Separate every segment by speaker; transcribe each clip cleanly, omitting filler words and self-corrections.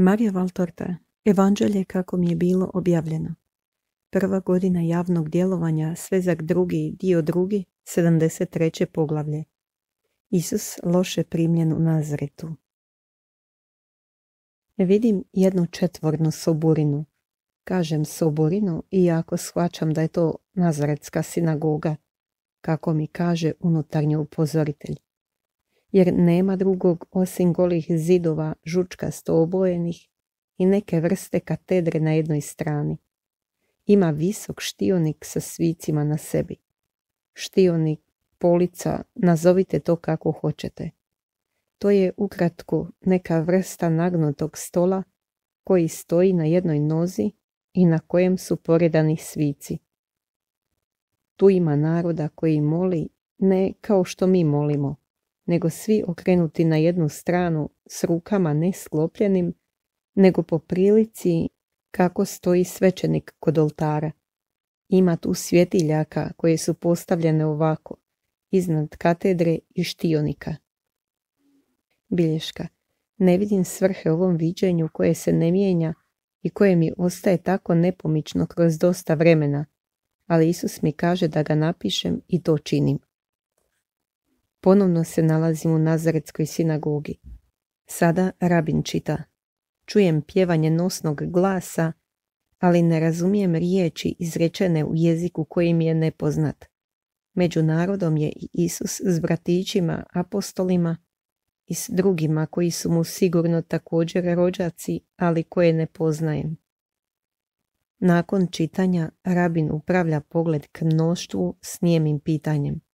Speaker 1: Marija Valtorta, Evanđelje kako mi je bilo objavljeno. Prva godina javnog djelovanja, svezak drugi, dio drugi, 73. poglavlje. Isus loše primljen u Nazaretu. Vidim jednu četvornu soborinu. Kažem soborinu, iako shvaćam da je to Nazaretska sinagoga, kako mi kaže unutarnji upozoritelj. Jer nema drugog osim golih zidova žučkasto obojenih i neke vrste katedre na jednoj strani. Ima visok štionik sa svicima na sebi. Štionik, polica, nazovite to kako hoćete. To je ukratko neka vrsta nagnutog stola koji stoji na jednoj nozi i na kojem su poredani svici. Tu ima naroda koji moli ne kao što mi molimo, nego svi okrenuti na jednu stranu s rukama ne sklopljenim, nego po prilici kako stoji svećenik kod oltara. Ima tu svjetiljaka koje su postavljene ovako, iznad katedre i štionika. Bilješka. Ne vidim svrhe ovom viđenju koje se ne mijenja i koje mi ostaje tako nepomično kroz dosta vremena, ali Isus mi kaže da ga napišem i to činim. Ponovno se nalazim u Nazaretskoj sinagogi. Sada rabin čita. Čujem pjevanje nosnog glasa, ali ne razumijem riječi izrečene u jeziku koji mi je nepoznat. Među narodom je i Isus s bratićima, apostolima i s drugima koji su mu sigurno također rođaci, ali koje ne poznajem. Nakon čitanja rabin upravlja pogled k mnoštvu s nijemim pitanjem.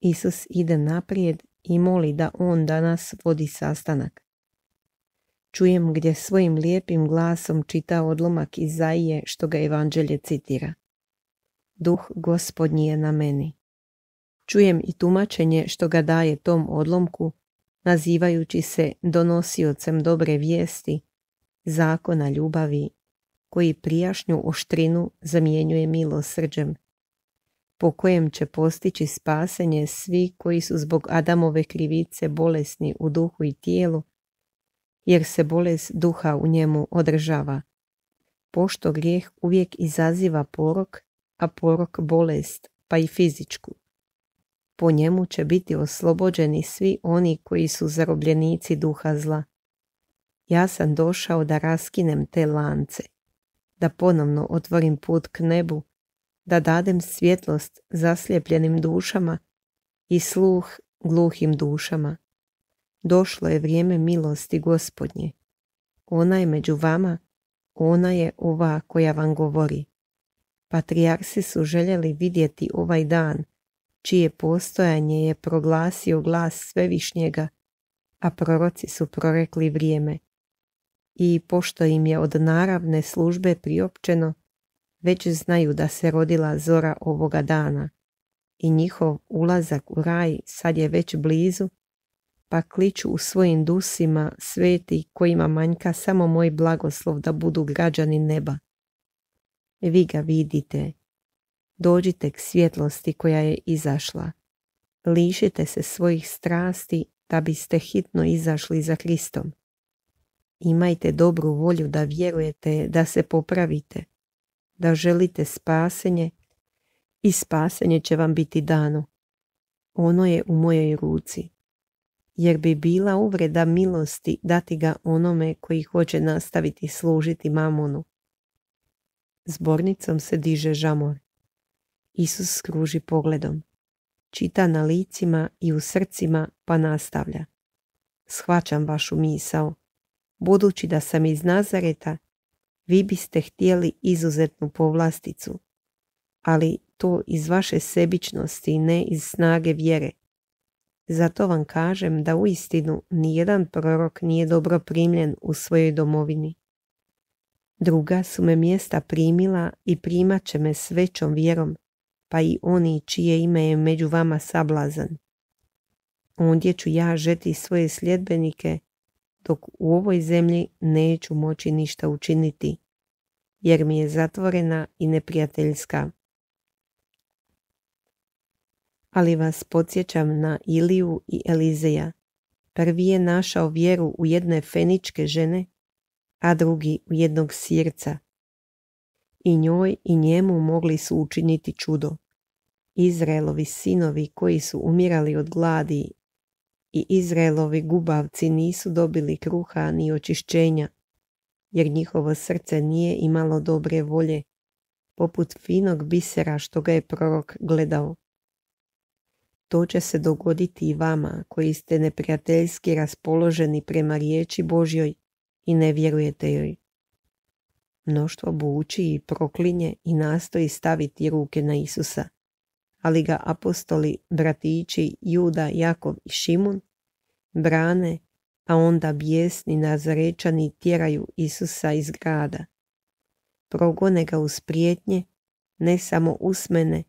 Speaker 1: Isus ide naprijed i moli da on danas vodi sastanak. Čujem gdje svojim lijepim glasom čita odlomak Izaije što ga Evanđelje citira. Duh Gospodnji je na meni. Čujem i tumačenje što ga daje tom odlomku, nazivajući se donosiocem dobre vijesti, zakona ljubavi, koji prijašnju oštrinu zamjenjuje milosrđem, po kojem će postići spasenje svi koji su zbog Adamove krivice bolesni u duhu i tijelu, jer se bolest duha u njemu održava. Pošto grijeh uvijek izaziva porok, a porok bolest, pa i fizičku. Po njemu će biti oslobođeni svi oni koji su zarobljenici duha zla. Ja sam došao da raskinem te lance, da ponovno otvorim put k nebu, da dadem svjetlost zaslijepljenim dušama i sluh gluhim dušama. Došlo je vrijeme milosti Gospodnje. Ona je među vama, ona je ova koja vam govori. Patrijarsi su željeli vidjeti ovaj dan, čije postojanje je proglasio glas Svevišnjega, a proroci su prorekli vrijeme. I pošto im je od naravne službe priopćeno, već znaju da se rodila zora ovoga dana i njihov ulazak u raj sad je već blizu, pa kliču u svojim dusima sveti kojima manjka samo moj blagoslov da budu građani neba. Vi ga vidite. Dođite k svjetlosti koja je izašla. Lišite se svojih strasti da biste hitno izašli za Kristom. Imajte dobru volju da vjerujete, da se popravite, da želite spasenje i spasenje će vam biti dano. Ono je u mojoj ruci. Jer bi bila uvreda milosti dati ga onome koji hoće nastaviti služiti mamonu. Zbornicom se diže žamor. Isus skruži pogledom. Čita na licima i u srcima pa nastavlja. Shvaćam vašu misao. Budući da sam iz Nazareta, vi biste htjeli izuzetnu povlasticu, ali to iz vaše sebičnosti, ne iz snage vjere. Zato vam kažem da uistinu nijedan prorok nije dobro primljen u svojoj domovini. Druga su me mjesta primila i primat će me s većom vjerom, pa i oni čije ime je među vama sablazan. Ondje ću ja žeti svoje sljedbenike, dok u ovoj zemlji neću moći ništa učiniti, jer mi je zatvorena i neprijateljska. Ali vas podsjećam na Iliju i Elizeja. Prvi je našao vjeru u jedne feničke žene, a drugi u jednog sirca. I njoj i njemu mogli su učiniti čudo. Izraelovi sinovi koji su umirali od gladi i Izraelovi gubavci nisu dobili kruha ni očišćenja, jer njihovo srce nije imalo dobre volje, poput finog bisera što ga je prorok gledao. To će se dogoditi i vama koji ste neprijateljski raspoloženi prema riječi Božjoj i ne vjerujete joj. Mnoštvo buči i proklinje i nastoji staviti ruke na Isusa, ali ga apostoli, bratići Juda, Jakov i Šimun brane, a onda bijesni Nazarečani tjeraju Isusa iz grada. Progone ga uz prijetnje, ne samo usmene,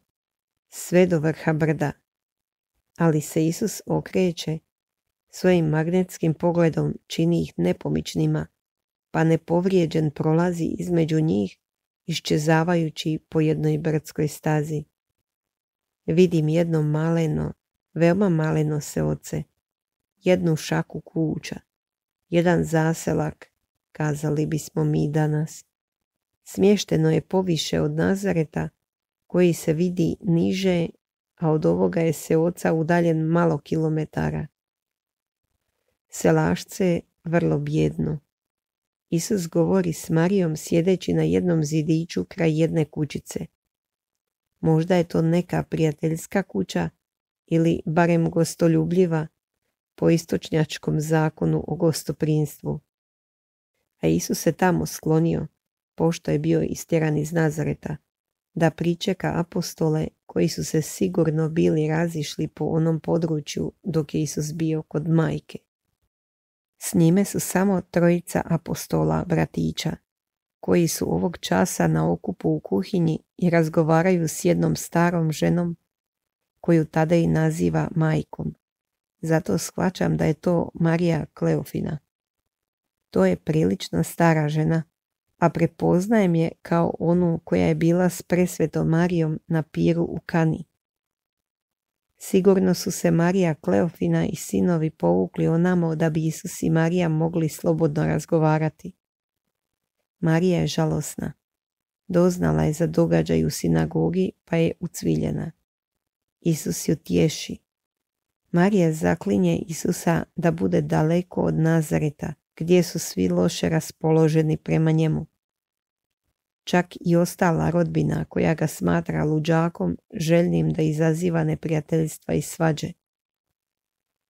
Speaker 1: sve do vrha brda. Ali se Isus okreće, svojim magnetskim pogledom čini ih nepomičnima, pa nepovrijeđen prolazi između njih, iščezavajući po jednoj brdskoj stazi. Vidim jedno maleno, veoma maleno seoce, jednu šaku kuća, jedan zaselak, kazali bismo mi danas. Smješteno je poviše od Nazareta, koji se vidi niže, a od ovoga je seoca udaljen malo kilometara. Selašce je vrlo bjedno. Isus govori s Marijom sjedeći na jednom zidiću kraj jedne kućice. Možda je to neka prijateljska kuća ili barem gostoljubljiva po istočnjačkom zakonu o gostoprinstvu. A Isus se tamo sklonio, pošto je bio istjeran iz Nazareta, da pričeka apostole koji su se sigurno bili razišli po onom području dok je Isus bio kod majke. S njime su samo trojica apostola, bratića, koji su ovog časa na okupu u kuhinji i razgovaraju s jednom starom ženom, koju tada i naziva majkom. Zato shvaćam da je to Marija Kleofina. To je prilično stara žena, a prepoznajem je kao onu koja je bila s presvetom Marijom na piru u Kani. Sigurno su se Marija Kleofina i sinovi povukli onamo da bi Isus i Marija mogli slobodno razgovarati. Marija je žalosna. Doznala je za događaj u sinagogi, pa je ucviljena. Isus ju tješi. Marija zaklinje Isusa da bude daleko od Nazareta, gdje su svi loše raspoloženi prema njemu. Čak i ostala rodbina koja ga smatra luđakom, željnim da izaziva neprijateljstva i svađe.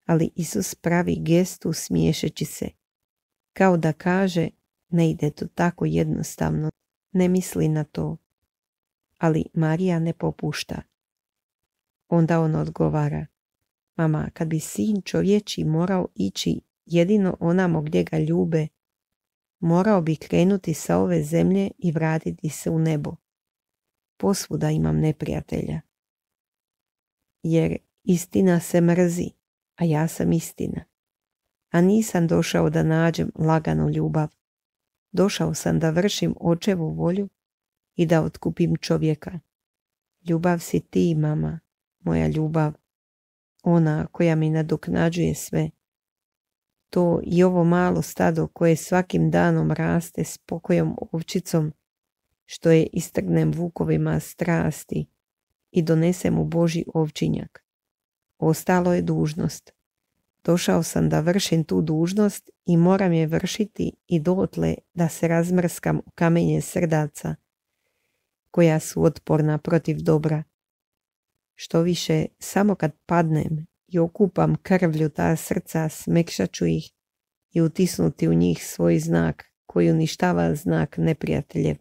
Speaker 1: Ali Isus pravi gestu smiješeći se, kao da kaže, ne ide to tako jednostavno, ne misli na to. Ali Marija ne popušta. Onda on odgovara, mama, kad bi sin čovječi morao ići jedino onamo gdje ga ljube, morao bi krenuti sa ove zemlje i vratiti se u nebo. Posvuda imam neprijatelja. Jer istina se mrzi, a ja sam istina. A nisam došao da nađem laganu ljubav. Došao sam da vršim očevu volju i da otkupim čovjeka. Ljubav si ti, mama, moja ljubav, ona koja mi nadoknađuje sve. To i ovo malo stado koje svakim danom raste s pokojom ovčicom, što je istrgnem vukovima strasti i donesem u Božji ovčinjak. Ostalo je dužnost. Došao sam da vršim tu dužnost i moram je vršiti i dotle da se razmrskam u kamenje srdaca, koja su otporna protiv dobra. Što više, samo kad padnem i okupam krvlju ta srca, smekšat ću ih i utisnuti u njih svoj znak koji uništava znak neprijateljev.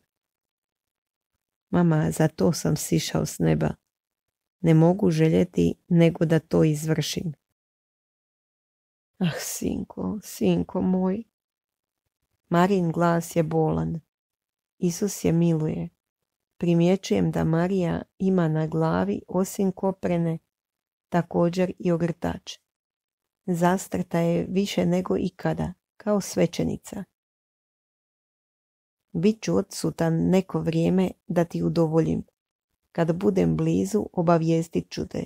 Speaker 1: Mama, za to sam sišao s neba. Ne mogu željeti nego da to izvršim. Ah, sinko, sinko moj. Marijin glas je bolan. Isus je miluje. Primjećujem da Marija ima na glavi osim koprene također i ogrtač. Zastrta je više nego ikada, kao svećenica. Bit ću odsutan neko vrijeme da ti udovoljim. Kad budem blizu, obavijestit ću te.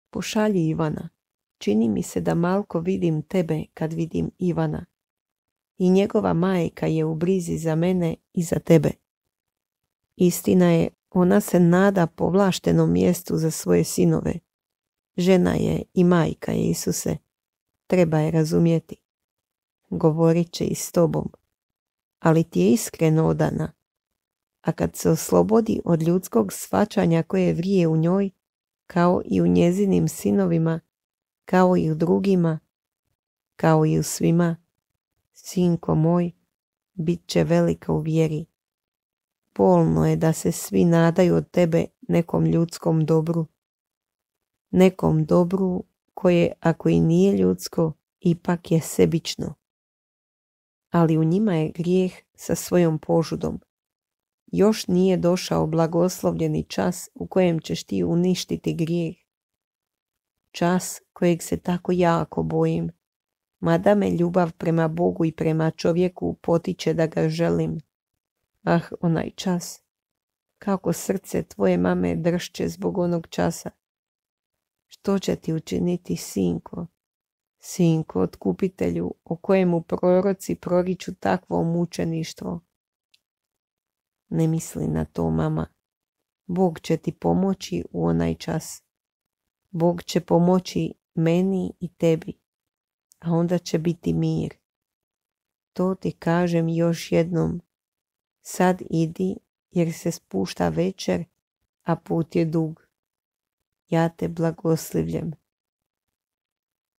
Speaker 1: Pošalji Ivana. Čini mi se da malko vidim tebe kad vidim Ivana. i njegova majka je u brizi za mene i za tebe. Istina je, ona se nada povlaštenom mjestu za svoje sinove. Žena je i majka je, Isuse. Treba je razumjeti. Govorit će i s tobom. Ali ti je iskreno odana. A kad se oslobodi od ljudskog shvaćanja koje vrije u njoj, kao i u njezinim sinovima, kao i u drugima, kao i u svima, sinko moj, bit će velika u vjeri. Bolno je da se svi nadaju od tebe nekom ljudskom dobru. Nekom dobru koje, ako i nije ljudsko, ipak je sebično. Ali u njima je grijeh sa svojom požudom. Još nije došao blagoslovljeni čas u kojem ćeš ti uništiti grijeh. Čas kojeg se tako jako bojim, mada me ljubav prema Bogu i prema čovjeku potiče da ga želim. Ah, onaj čas, kako srce tvoje mame dršće zbog onog časa. Što će ti učiniti, sinko? Sinko, otkupitelju, o kojemu proroci proriču takvo mučeništvo? Ne misli na to, mama. Bog će ti pomoći u onaj čas. Bog će pomoći meni i tebi, a onda će biti mir. To ti kažem još jednom. Sad idi, jer se spušta večer, a put je dug. Ja te blagoslivljem.